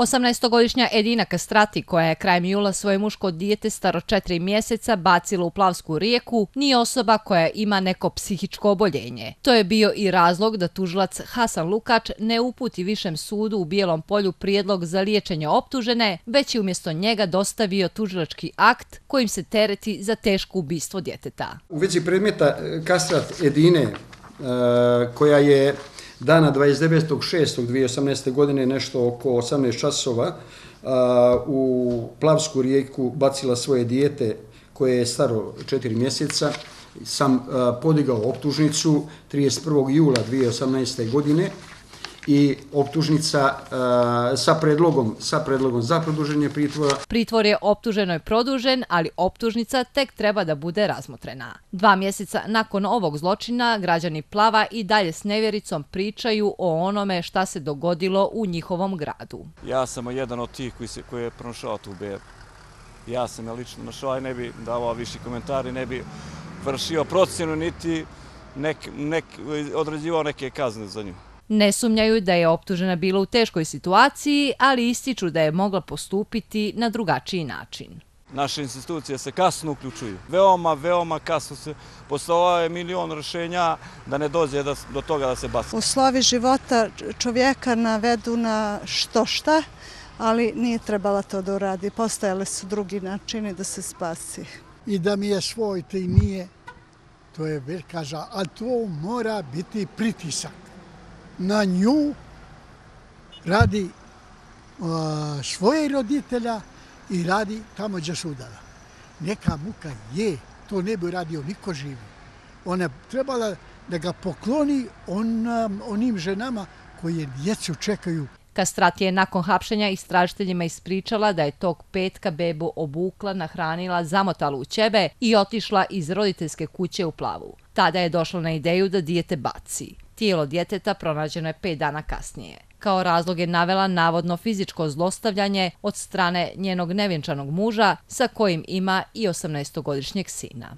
18-godišnja Edina Kastrati, koja je krajem jula svoje muško dijete staro 4 mjeseca bacila u Plavsku rijeku, nije osoba koja ima neko psihičko oboljenje. To je bio i razlog da tužilac Hasan Lukač ne uputi Višem sudu u Bijelom Polju prijedlog za liječenje optužene, već je umjesto njega dostavio tužilački akt kojim se tereti za teško ubistvo djeteta. U vezi predmeta Kastrat Edine, koja je dana 29.6.2018. godine nešto oko 18 časova u Plavsku rijeku bacila svoje dijete koje je staro 4 mjeseca, sam podigao optužnicu 31. jula 2018. godine i optužnica sa predlogom za produženje pritvora. Pritvor je optuženoj produžen, ali optužnica tek treba da bude razmotrena. 2 mjeseca nakon ovog zločina građani Plava i dalje s nevjericom pričaju o onome šta se dogodilo u njihovom gradu. Ja sam jedan od tih koji je pronašao tu bebu. Ja sam je lično našao i ne bi davao viši komentari, ne bi vršio procjenu niti određivao neke kazne za nju. Ne sumnjaju da je optužena bila u teškoj situaciji, ali ističu da je mogla postupiti na drugačiji način. Naše institucije se kasno uključuju. Veoma kasno se postavlja milion rješenja da ne dođe do toga da se baci. Uslovi života čovjeka navedu na što šta, ali nije trebala to da uradi. Postojali su drugi načini da se spasi. I da mi je svoj, to i nije, to je velika, ali to mora biti pritisak na nju radi svoje roditelja i radi tamo gdje su udala. Neka muka je, to ne bi radio niko živi. Ona je trebala da ga pokloni onim ženama koje djecu čekaju. Kastrat je nakon hapšenja istražiteljima ispričala da je tog petka bebu obukla, nahranila, zamotala u ćebe i otišla iz roditeljske kuće u Plavu. Tada je došla na ideju da dijete baci. Tijelo djeteta pronađeno je 5 dana kasnije. Kao razlog je navela navodno fizičko zlostavljanje od strane njenog nevjenčanog muža sa kojim ima i 18-godišnjeg sina.